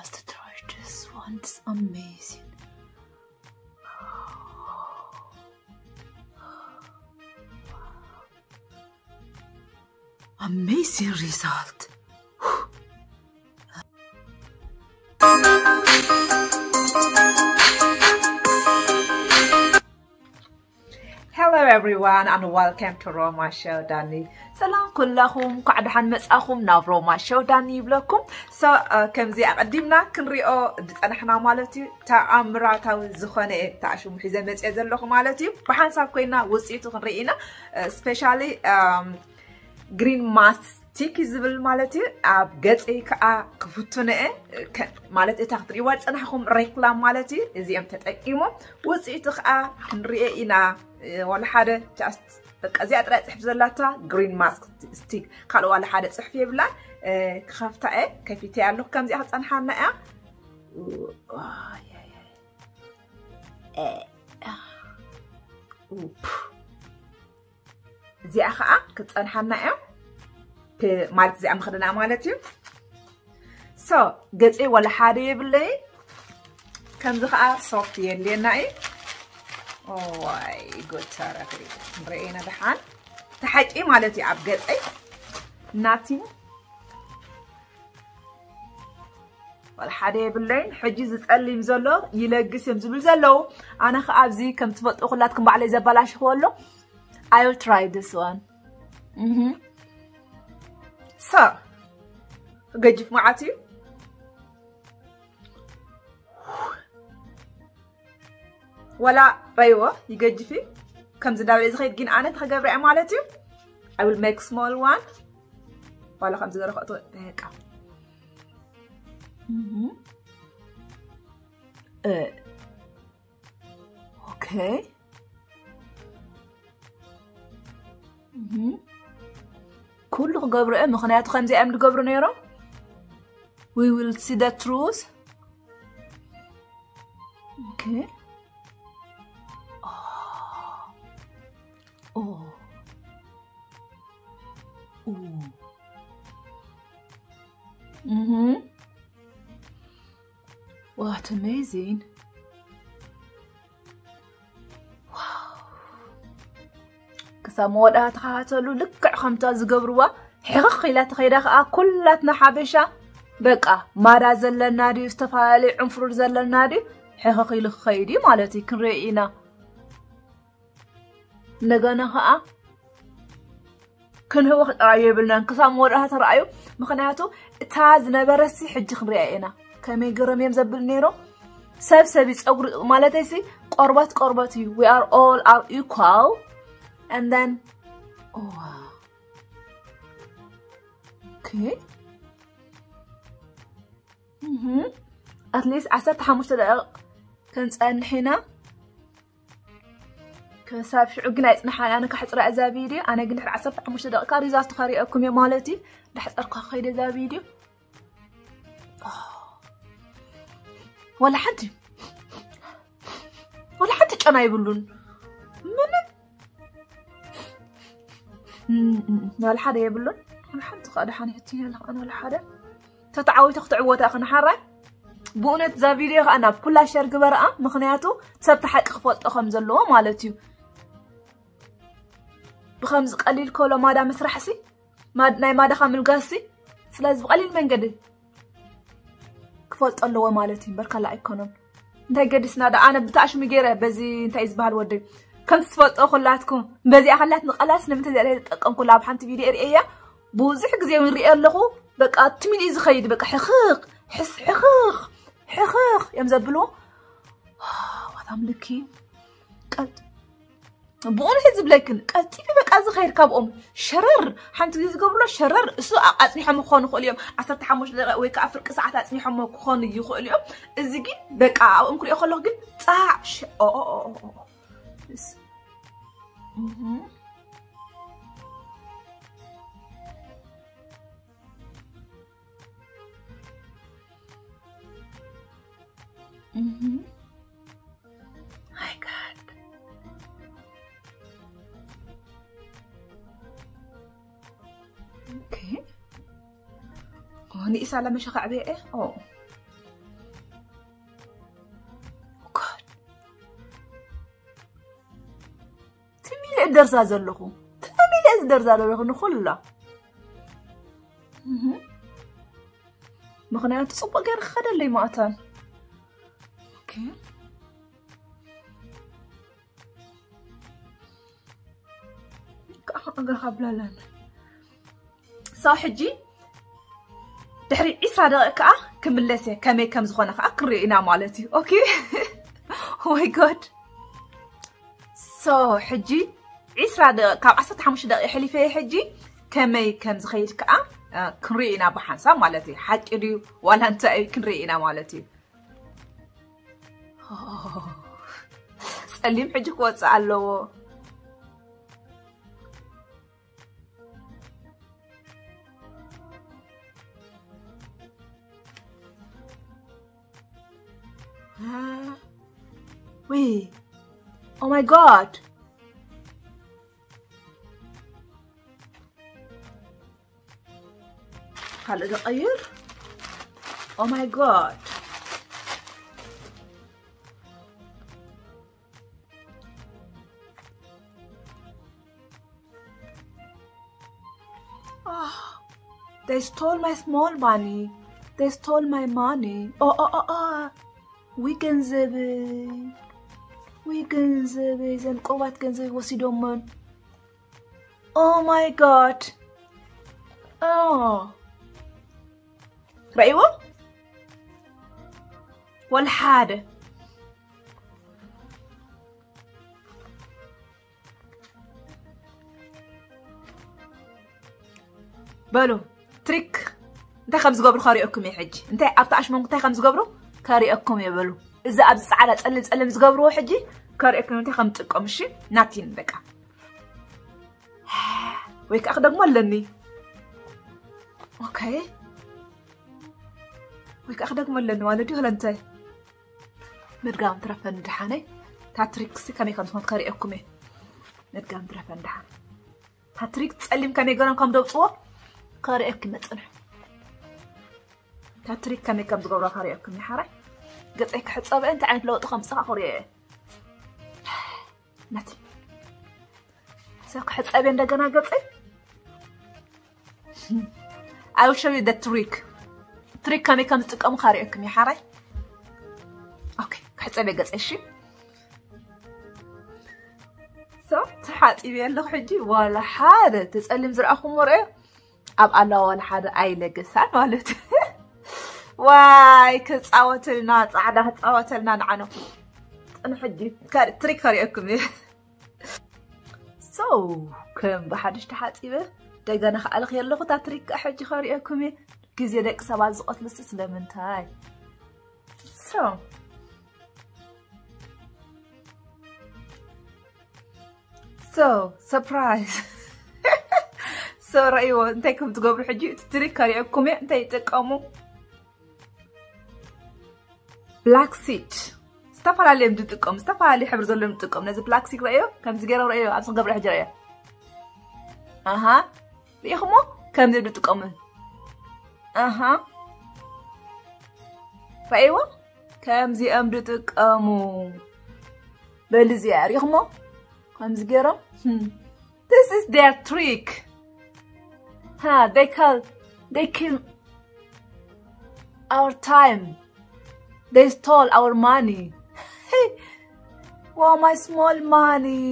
Let's try this one. It's amazing. Amazing result. Hello everyone and welcome to Roma Show Dani. ሰላም ኩላኹም፣ እንኳዕ ደሓን መጻኹም ናብ ሮማ ሸው ዳኒ ይብለኩም። So ከምዚ ኣቐዲምና ክንሪኦ ዝጸናሕና ማለት እዩ፣ ተኣምራታዊ ዝኾነ እዩ ተኣሽሙ ሒዘ መጽኤ ዘለኹ ማለት እዩ። ብሓንሳብ ኮይና ውጽኢቱ ክንርኢ ኢና። ስፔሻሊ ግሪን ማስቲክ ዝብል ማለት እዩ። ኣብ ገጸይ ከዓ ክፍትኖ እየ፣ ማለት እታ ክትሪእዋ ዝጸናሕኩም ሬክላም ማለት እዩ። እዚኦም ተጠቂሞም ውጽኢቱ ከዓ ክንሪኦ ኢና። ዋላ ሓደ ጃስት በቃ እዚኣ ጥራይ ጽሕፍ ዘላታ ግሪን ማስቲክ፣ ካልእ ዋላ ሓደ ጽሕፍ የብላን። ክኸፍታ እየ፣ ከፊተ ኣለኹ። ከምዚኣ ክጸንሓና እያ። እዚኣ ከዓ ክትጸንሓና እያ ማለት እዚኣ ምኽድና ማለት እዩ። So ገፀይ ዋላ ሓደ የብለይ። ከምዚ ከዓ ሶፍት የድልየና እዩ። ዋይ ጎተረኺ ንረኤና ደሓን ተሓቂ ማለት እዩ ኣብ ገፀይ ናቲን ዋላ ሓደ የብለይን። ሕጂ ዝፀሊም ዘሎ ይለግስ እዮም ዝብል ዘለዉ። ኣነ ከዓ ኣብዚ ከም ትፈልጡ ኩላትኩም ባዕለይ ዘበላሽኽዎ ኣሎ። I will try this one. So ገጅፍ መዓት እዩ። ዋላ ረይዎ ይገጅፊ ከምዚ እንዳበለ ዝኸይድ ግን ኣነ ተኸገብረ ማለት እዩ። I will make small one። ዋላ ከምዚ ዘረኸእቶ በቃ okay። ኩሉ ክገብሩ እዮም፣ ምክንያቱ ከምዚ እዮም ዝገብሩ ነይሮም። We will see the truth. Okay. Oh. Oh. Oh. Mhm. What amazing. ክሳብ መወዳእታ ተኸታተሉ። ልክዕ ከምታ ዝገብርዋ ሕኽኽ ኢላ ተኸይዳ ከዓ ኩላትና ሓበሻ በቃ ማዳ ዘለና ድዩ ዝተፈላለዩ ዕንፍሩር ዘለና ድዩ ሕኽኽ ኢሉ ክኸይድ እዩ ማለት እዩ። ክንርኢ ኢና። እንደገና ከዓ ክንህወኽ ጥራይ የብልናን ክሳብ መወዳእታ ተረኣዩ። ምክንያቱ እታ ዝነበረሲ ሕጂ ክንሪኣ ኢና ከመይ ገሮም እዮም ዘብል ነይሮም። ሰብ ሰብ እዩ ፀጉሪ ማለተይሲ ቆርበት ቆርበት እዩ። We are all are equal and then okay. At least ዓሰርተ ሓሙሽተ ደቂቕ ክንፀንሕ ኢና። ክሳብ ሽዑ ግን ኣይፅንሓን። ኣነ ካሕፅራ እዛ ቪድዮ ኣነ ግን ድሕሪ ዓሰርተ ሓሙሽተ ደቂቃ ሪዛልቱ ከሪአኩም እየ ማለት እዩ። ዳሕፀርኳ ከይደ እዛ ቪድዮ ዋላ ሓንቲ ዋላ ሓንቲ ጨና ይብሉን ምንም ዋላ ሓደ የብሉን። ዋላ ሓንቲ ከዓ ደሓን ሕቲ ያለ ኣነ ዋላ ሓደ ተተዓዊተ ክትዕወታ ክንሓራይ ብእውነት እዛ ቪድዮ ከዓ ናብ ኩላ ሸር ግበርኣ። ምክንያቱ ሰብ ተሓቂ ክፈልጦ ከም ዘለዎ ማለት እዩ። ብከምዚ ቀሊል ከሎ ማዳ ምስራሕሲ ናይ ማዳኻ ምልጋስሲ ስለዚ ብቀሊል መንገዲ ክፈልጦ ኣለዎ ማለት እዩ። በርካላ ኣይኮነን እንታይ ገዲስና ዳ ኣነ ብታሽሙ ገይረ በዚ እንታይ ዝበሃል ወደይ ከምቲ ትፈልጦ ኩላትኩም በዚኣ ከላት ንቀላስ ንምንታይ ዘለ ተጠቀምኩላ ኣብ ሓንቲ ቪድዮ ርእያ ብዙሕ ግዜ እውን ርእየ ኣለኹ። በቃ ትሚሊ ዝኸይድ በቃ ሕኽኽ ሕስ ሕኽኽ ሕኽኽ እዮም ዘብልዎ። ዋታም ልኪ ቀጥ ብእውነት ዝብለክን ቀልጢፊ በቃ ዝኸይድ ካብኦም ሸረር ሓንቲ ግዜ ዝገብርሎ ሸረር እሱ ኣፅኒሖም ክኾኑ ይኽእሉ እዮም። ዓሰርተ ሓሙሽተ ደቂቕ ወይ ከዓ ፍርቂ ሰዓት ኣፅኒሖም ክኾኑ ይኽእሉ እዮም። እዚ ግን በቃ ኣብኦም ክሪኦ ከለኹ ግን ፃዕ ንኢሳ ለመሸኸዕበ እየ ደርዛ ዘለኹ ተሚለ ዝደርዛ ዘለኹ ንኹላ ምኽንያቱ ጽቡቅ ገይረ ክኸደለይ ማእታን እግርኻ ብላላን ሰው ሕጂ ድሕሪ ዒስራ ደቂቕ ከዓ ክምለስ እየ ከመይ ከም ዝኾነ ከዓ ክንሪኦ ኢና ማለት እዩ okay ወይ god so ሕጂ ዒስራ ደቂቕ ካብ ዓሰርተ ሓሙሽተ ደቂቕ ሕሊፈ እየ ሕጂ ከመይ ከም ዝኸይድ ከዓ ክንሪኦ ኢና ብሓንሳብ ማለት እዩ ሓቂ ድዩ ዋላ እንታይ እዩ ክንሪኦ ኢና ማለት እዩ ጸሊም ሕጂ ክወፅእ ኣለዎ Wait. Oh my god. ካልእ ዝቐይር? Oh my god. Oh, they stole my small money. They stole my money. Oh, oh, oh, oh. We ገንዘበይ. We ገንዘበይ. ዘን ቆባት ገንዘበይ ወሲዶመን. Oh my god. Oh. ረእይዎ? ወልሓደ በሉ ትሪክ እንታይ ከም ዝገብሩ ከሪኦኩም እየ ሕጂ እንታይ ኣብቲ ኣሽሞንኩ እንታይ ከም ዝገብሩ ከሪኦኩም እየ በሉ እዚ ኣብዚ ፃዕዳ ፀልም ፀልም ዝገብርዎ ሕጂ ከሪኦኩም እንታይ ከም ዝጥቀሙ እሺ ናቲን በቃ ወይ ከዓ ክደግሞ ኣለኒ ኦኬ ወይ ከዓ ክደግሞ ኣለኒ ማለት ድዩ ለንታይ ምድጋም ትረፈኒ ድሓነይ ታትሪክሲ ከመይ ከም ዝኾን ከሪአኩም እየ ምድጋም ትረፈኒ ድሓን ታትሪክ ፀሊም ከመይ ገሮም ከም ደውፅዎ ከሪአኪ መፅንሕ ታትሪክ ከመይ ከም ዝገብሮ ከሪአኩም እየ ሓራይ ገፀይ ክሕፀበ እንታይ ዓይነት ለውጢ ከም ዝፅኻ ክሪኦ እየ ነቲ ሰብ ክሕፀብ እንደገና ገፀይ I will show you the trick trick ከመይ ከም ዝጥቀሙ ካሪኦኩም እዩ ሓራይ okay ክሕፀብ ገፀ እሺ so ተሓፂበ ኣለኹ ሕጂ ዋላ ሓደ ተፀሊም ዝረኣኹም ወርአ ኣብ ኣለዋ ዋላ ሓደ ኣይለገሳን ማለት ዋይ ክፃወተልና ፃዕዳ ክፃወተልና ንዓኖ ጥንሕጂ ትሪክ ከሪአኩም እየ so ከም ብሓድሽ ተሓፂበ ደገና ከኣልኽ የለኹ እታ ትሪክ ከዓ ሕጂ ከሪአኩም እየ ግዜ ደቂ ሰባት ዝቐትልሲ ስለምንታይ so so surprise so ረእይዎ እንታይ ከም ትገብሩ ሕጂ እቲ ትሪክ ከሪአኩም እየ እንታይ ይጥቀሙ black seed ዝተፈላለዩ እዮም ዝጥቀሙ ዝተፈላለዩ ሕብሪ ዘለዎም ዝጥቀሙ ነዚ black seed ረእዮ ከምዚ ገይሮም ረእዮ ኣብዚ ክገብረ ሕጂ ረእዮ ኣሃ ሪኢኹሞ ከምዚ እዮም ዝጥቀሙ ኣሃ ረእይዎ ከምዚኦም ዝጥቀሙ በሊ እዚኣ ሪኢኹሞ ከምዚ ገይሮም this is their trick huh, they call they kill our time they stole our money wow my small money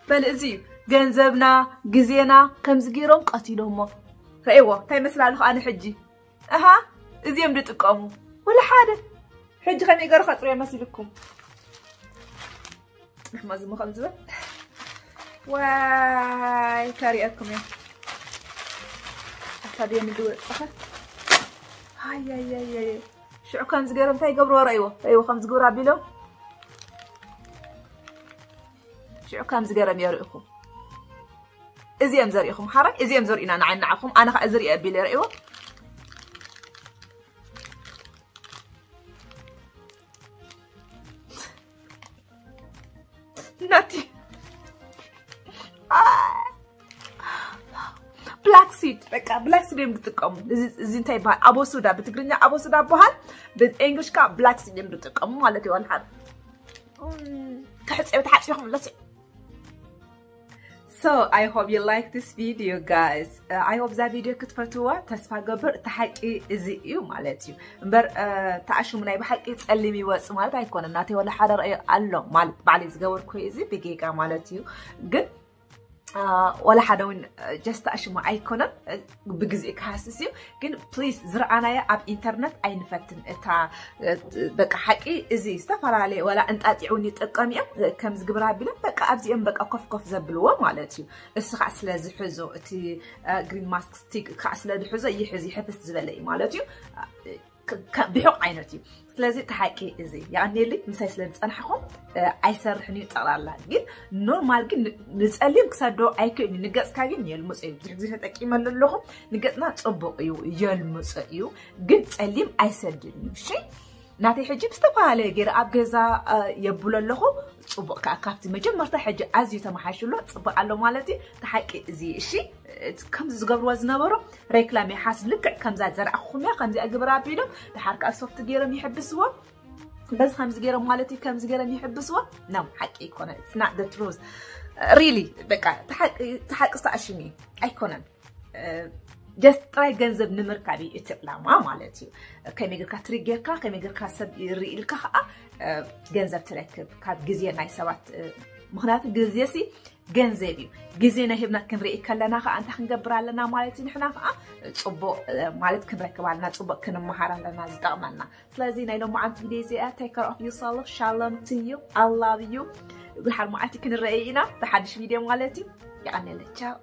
በል እዚ ገንዘብና ግዜና ከምዚ ገይሮም ቀቲሎሞ ረእዎ እንታይ መስላልኹ ኣነ ሕጂ ኣሃ እዚኦም ዝጥቀሙ ወላ ሓደ ሕጂ ከመይ ገሩ ከፅርዮ መሲልኩም ፅንሕማ ዝሞ ከም ዝበል ዋይ ከሪአኩም እዮም ኣታ ድየ ንድወፅኸ ሃያያያየ ሽዑ ከምዚ ገይሮም እንታይ ይገብርዎ ረእይዎ ረእይዎ ከምዚ ግብሩ ኣቢሎም ሽዑ ከምዚ ገይሮም የርእኹም እዚኦም ዘርእኹም ሓራይ እዚኦም ዘርእና ንዓይ ንዓኹም ኣነ ከዓ እዚ ርእየ ኣቢለ ርእይዎ ናቲ black seed በቃ black seed እዮም ዝጥቀሙ እዚ እንታይ ይበሃል ኣቦሱዳ ብትግርኛ ኣቦሱዳ ይበሃል ብእንግሊሽ ከዓ black seed እዮም ዝጥቀሙ ማለት እዩ ሓደ ክሕፅዮ ተሓፅዮ ክብለስ So I hope you like this video, guys. I hope እዛ ቪድዮ ክትፈትዋ ተስፋ ገብር። እቲ ሓቂ እዚ እዩ ማለት እዩ። እምበር ተኣሽሙ ናይ ብሓቂ ጸሊም ይወጽእ ማለት ኣይኮነን። ናተይ ወላ ሓደ ረእዮ ኣሎ ማለት ባዕለይ ዝገበርኩ እዚ ብጌጋ ማለት እዩ። ግን ወላ ሓደ እውን just ተኣሽሙ ኣይኮነን። ብግዜ ክሃስስ እዩ። ግን please ዝረኣናዮ ኣብ ኢንተርነት ኣይንፈትን። እታ በቃ ሓቂ እዚ ዝተፈላለየ ወላ እንጣጢዕ እውን ይጥቀም እዮም። ከምዚ ግብር ኣቢሎም በቃ ኣብዚኦም በቃ ኮፍ ኮፍ ዘብልዎ ማለት እዩ። እሱ ከዓ ስለ ዝሕዞ እቲ green mask stick ከዓ ስለ ዝሕዞ ይሕዝ ይሕፍስ ዝበለ እዩ ማለት እዩ። ብሑቕ ዓይነት እዩ። ስለዚ እቲ ሓቂ እዚ የቐንየልኝ ምሳይ ስለ ዝፀናሕኹም ኣይሰርሕን እዩ ጠቕላላ። ግን ኖርማል ግን ንፀሊም ክሰዶ ኣይክእልን። ንገፅካ ግን የልምፆ እዩ። ብዙሕ ግዜ ተጠቂመሉ ኣለኹ። ንገፅና ፅቡቕ እዩ፣ የልምፆ እዩ። ግን ፀሊም ኣይሰድን እዩ። እሺ ናተይ ሕጂ ብዝተፈላለየ ገይረ ኣብ ገዛ የብሎ ኣለኹ። ፅቡቕ ከዓ ካብቲ መጀመርታ ሕጂ ኣዝዩ ተመሓይሽሎ ፅቡቕ ኣሎ ማለት እዩ። እቲ ሓቂ እዚ እሺ ከምዚ ዝገብርዎ ዝነበሩ ሬክላም ይሓስ ልክዕ ከምዛ ዘርኣኹም እያ ከምዚኣ ግብር ኣቢሎም ድሓር ከዓ ሶፍት ገይሮም ይሕብስዎ። በዚ ከምዚ ገይሮም ማለት እዩ ከምዚ ገይሮም ይሕብስዎ። ነው ሓቂ ይኮነ it's not the truth really በቃ ተሓቂ ዝተኣሽሚ ኣይኮነን። just ጥራይ ገንዘብ ንምርካብ እዩ እቲ ዕላማ ማለት እዩ። ከመይ ጌርካ ትሪክ ጌርካ ከመይ ጌርካ ሰብ ይርኢ ኢልካ ከዓ ገንዘብ ትረክብ ካብ ግዜ ናይ ሰባት። ምክንያቱ ግዜ ሲ ገንዘብ እዩ። ግዜና ሂብና ክንርኢ ከለና ከዓ እንታይ ክንገብር ኣለና ማለት እዩ። ንሕና ከዓ ፅቡቅ ማለት ክንረክብ ኣለና፣ ፅቡቅ ክንመሃር ኣለና ዝጠቅመና። ስለዚ ናይ ሎማዓንቲ ቪድዮ እዚኣ take care of yourself. Shalom to you. I love you. ድሓር መዓልቲ ክንረአ ኢና ብሓድሽ ቪድዮ ማለት እዩ። የቀንየለይ ቻው።